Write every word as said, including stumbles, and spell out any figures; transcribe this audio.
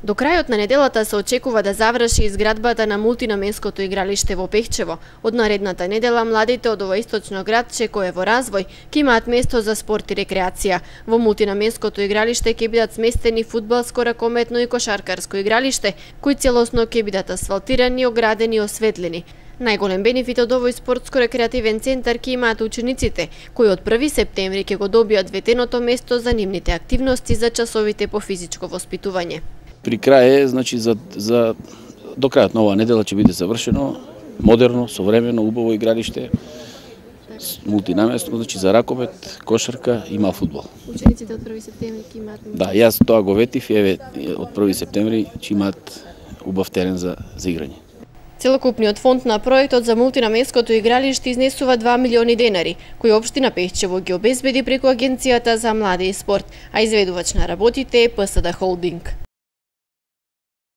До крајот на неделата се очекува да заврши изградбата на мултинаменското игралиште во Пехчево. Од наредната недела младите од ова источно градче кој е во развој ќе имаат место за спорт и рекреација. Во мултинаменското игралиште ќе бидат сместени фудбалско, ракометно и кошаркарско игралиште, кои целосно ќе бидат асфалтирани, оградени и осветлени. Најголем бенефит од овој спортско-рекреативен центар ќе имаат учениците, кои од први септември ќе го добијат ветеното место за нивните активности за часовите по физичко воспитување. При крај е, значи, за, за до крајот на оваа недела ќе биде завршено модерно, современо, убаво игралиште, мултинаместно, значи за ракомет, кошарка и мал фудбал. Учениците од први септември ќе имаат. Да, јас тоа го ветив, еве од први септември ќе имаат убав терен за за играње. Целокупниот фонд на проектот за мултинаменското игралиште изнесува два милиони денари, кои општина Пехчево ги обезбеди преку Агенцијата за млади и спорт, а изведувач на работите е ПСД Холдинг.